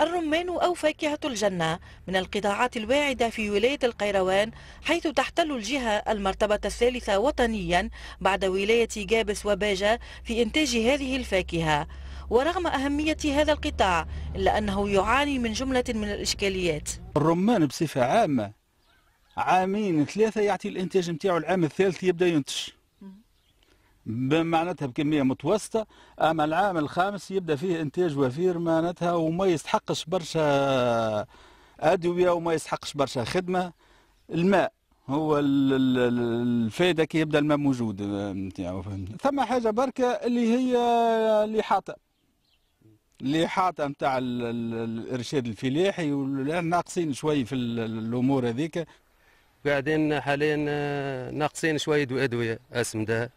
الرمان أو فاكهة الجنة من القطاعات الواعدة في ولاية القيروان، حيث تحتل الجهة المرتبة الثالثة وطنيا بعد ولاية جابس وباجة في إنتاج هذه الفاكهة. ورغم أهمية هذا القطاع إلا أنه يعاني من جملة من الإشكاليات. الرمان بصفة عامة عامين ثلاثة يعطي الإنتاج نتاعو، العام الثالث يبدأ ينتج معناتها بكمية متوسطة، أما العام الخامس يبدأ فيه إنتاج وفير معناتها، وما يستحقش برشا أدوية وما يستحقش برشا خدمة. الماء هو الفائدة كي يبدأ الماء موجود نتاعو. ثم حاجة بركة اللي هي الإحاطة نتاع الإرشاد الفلاحي، ناقصين شوي في الأمور هذيك. قاعدين حاليا ناقصين شوية أدوية، أسمدة،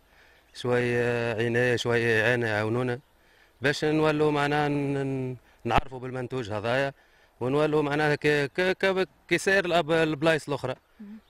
شوية عناية، شوية إعانة يعاونونا باش نولوا معناها نعرفوا بالمنتوج هذايا، ونولوا معناها كسائر البلايص الأخرى،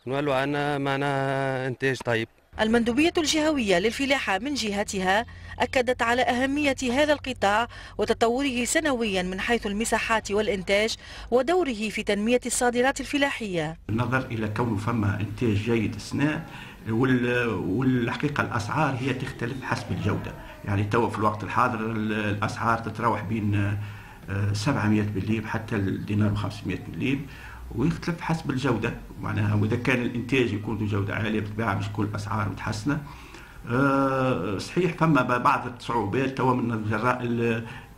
نولوا عندنا معناها إنتاج طيب. المندوبية الجهوية للفلاحة من جهتها أكدت على أهمية هذا القطاع وتطوره سنويا من حيث المساحات والإنتاج ودوره في تنمية الصادرات الفلاحية. بالنظر إلى كونه فما إنتاج جيد السنة، والحقيقة الأسعار هي تختلف حسب الجودة، يعني توا في الوقت الحاضر الأسعار تتراوح بين 700 مليم حتى الدينار و500 مليم، ويختلف حسب الجودة معناها، وإذا كان الإنتاج يكون ذو جودة عالية بالطبيعة باش تكون الأسعار متحسنة. صحيح فما بعض الصعوبات توا من جراء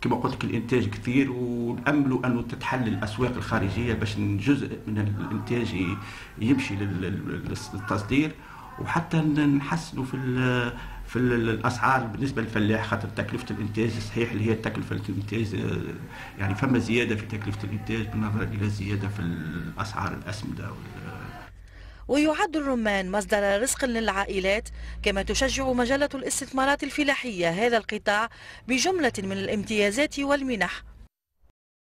كما قلت لك الإنتاج كثير، ونأملوا أنه تتحل الأسواق الخارجية باش جزء من الإنتاج يمشي للتصدير، وحتى نحسنوا في الاسعار بالنسبة للفلاح، خاطر تكلفة الانتاج صحيح اللي هي تكلفة الانتاج يعني فما زيادة في تكلفة الانتاج بالنظر الى زيادة في الاسعار الاسمده. ويعد الرمان مصدر رزق للعائلات، كما تشجع مجلة الاستثمارات الفلاحية هذا القطاع بجملة من الامتيازات والمنح.